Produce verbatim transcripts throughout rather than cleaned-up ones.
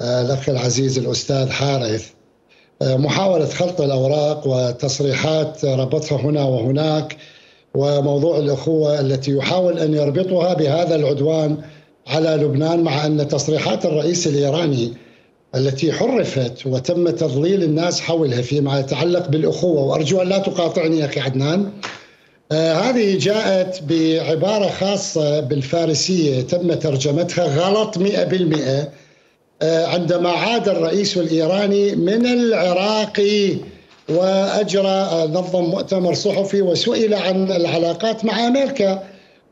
الأخ العزيز الأستاذ حارث محاولة خلط الأوراق وتصريحات ربطها هنا وهناك، وموضوع الأخوة التي يحاول أن يربطها بهذا العدوان على لبنان، مع أن تصريحات الرئيس الإيراني التي حرفت وتم تضليل الناس حولها فيما يتعلق بالأخوة، وأرجو أن لا تقاطعني أخي عدنان، آه هذه جاءت بعبارة خاصة بالفارسية تم ترجمتها غلط مئة بالمئة آه عندما عاد الرئيس الإيراني من العراق وأجرى نظم مؤتمر صحفي وسئل عن العلاقات مع أمريكا،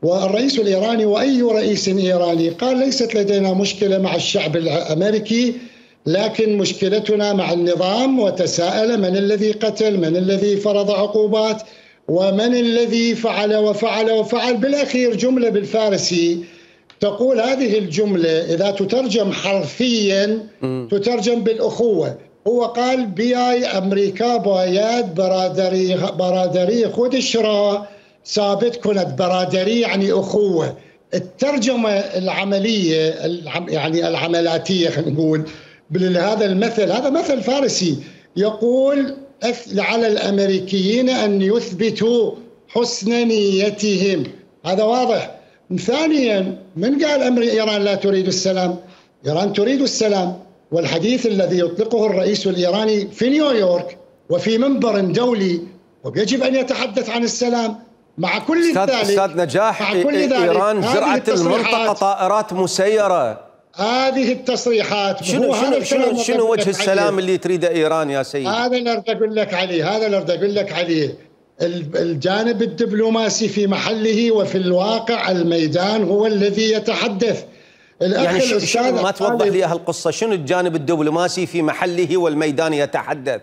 والرئيس الإيراني وأي رئيس إيراني قال ليست لدينا مشكلة مع الشعب الأمريكي، لكن مشكلتنا مع النظام، وتساءل من الذي قتل، من الذي فرض عقوبات، ومن الذي فعل وفعل وفعل. بالأخير جملة بالفارسي تقول هذه الجملة إذا تترجم حرفيا تترجم بالأخوة. هو قال بياي أمريكا بايد برادري برادري خود الشراء ثابت كنت برادري يعني أخوة. الترجمة العملية يعني العملاتية خلينا نقول بهذا المثل، هذا مثل فارسي يقول على الأمريكيين أن يثبتوا حسن نيتهم، هذا واضح. ثانيا من قال أمر إيران لا تريد السلام؟ إيران تريد السلام، والحديث الذي يطلقه الرئيس الإيراني في نيويورك وفي منبر دولي ويجب أن يتحدث عن السلام. مع كل ذلك أستاذ نجاح إيران زرعت المنطقة طائرات مسيرة. هذه التصريحات شنو شنو شنو, شنو وجه السلام اللي تريده إيران يا سيدي؟ هذا اللي أريد أقول لك عليه، هذا اللي أريد أقول لك عليه. الجانب الدبلوماسي في محله، وفي الواقع الميدان هو الذي يتحدث. يعني شنو ما توضح لي هالقصة؟ شنو الجانب الدبلوماسي في محله والميدان يتحدث؟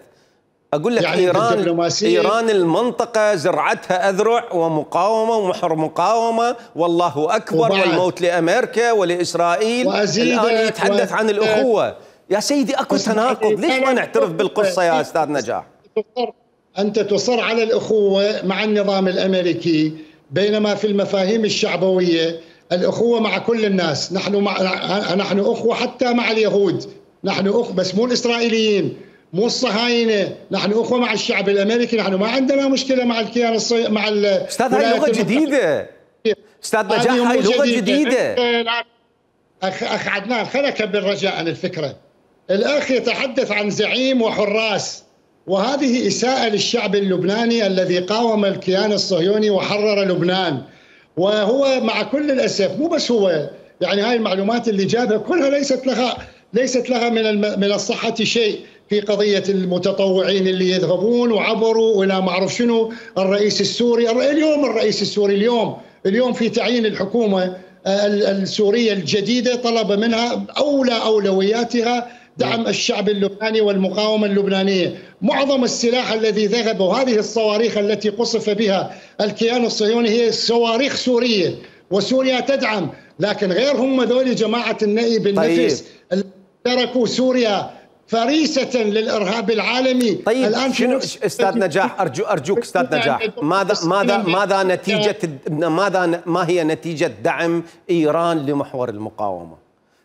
أقول لك يعني إيران إيران المنطقة زرعتها أذرع ومقاومة ومحور مقاومة، والله أكبر والموت لأمريكا ولإسرائيل، الآن يتحدث عن الأخوة. يا سيدي أكو تناقض، ليش ما نعترف بالقصة يا أستاذ نجاح؟ أنت تصر على الأخوة مع النظام الأمريكي، بينما في المفاهيم الشعبوية الأخوة مع كل الناس. نحن مع نحن أخوة حتى مع اليهود، نحن أخوة بس مو الإسرائيليين مو الصهاينة، نحن أخوة مع الشعب الأمريكي، نحن ما عندنا مشكلة مع الكيان الصي... مع ال أستاذ هاي لغة جديدة، أستاذ نجاح هاي لغة جديدة. أخ أخ عدنان خليني أكبر رجاء عن الفكرة. الأخ يتحدث عن زعيم وحراس، وهذه إساءة للشعب اللبناني الذي قاوم الكيان الصهيوني وحرر لبنان. وهو مع كل الأسف مو بس هو، يعني هاي المعلومات اللي جابها كلها ليست لها ليست لها من من الصحة شيء في قضية المتطوعين اللي يذهبون وعبروا ولا ما أعرف شنو. الرئيس السوري اليوم الرئيس السوري اليوم اليوم في تعيين الحكومة السورية الجديدة طلب منها أولى أولوياتها دعم الشعب اللبناني والمقاومة اللبنانية. معظم السلاح الذي ذهب وهذه الصواريخ التي قصف بها الكيان الصهيوني هي صواريخ سورية، وسوريا تدعم، لكن غير هم ذولي جماعة النائب النفس اللي تركوا سوريا فريسة للإرهاب العالمي. طيب الآن شنو أستاذ نجاح أرجو أرجوك أستاذ نجاح، ماذا ماذا ماذا نتيجة ماذا ما هي نتيجة دعم إيران لمحور المقاومة؟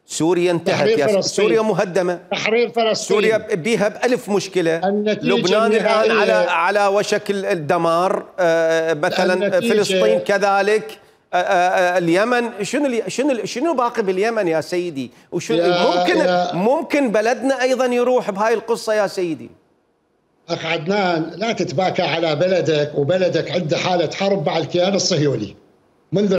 سوريا انتهت يا سوريا مهدمة، تحرير فلسطين، سوريا بها بألف مشكلة، لبنان الآن على على وشك الدمار، مثلا فلسطين كذلك، اليمن. شنو شنو شنو باقي باليمن يا سيدي؟ وشنو ممكن يا ممكن بلدنا ايضا يروح بهاي القصه يا سيدي؟ اخ عدنان لا تتباكى على بلدك، وبلدك عنده حاله حرب مع الكيان الصهيوني منذ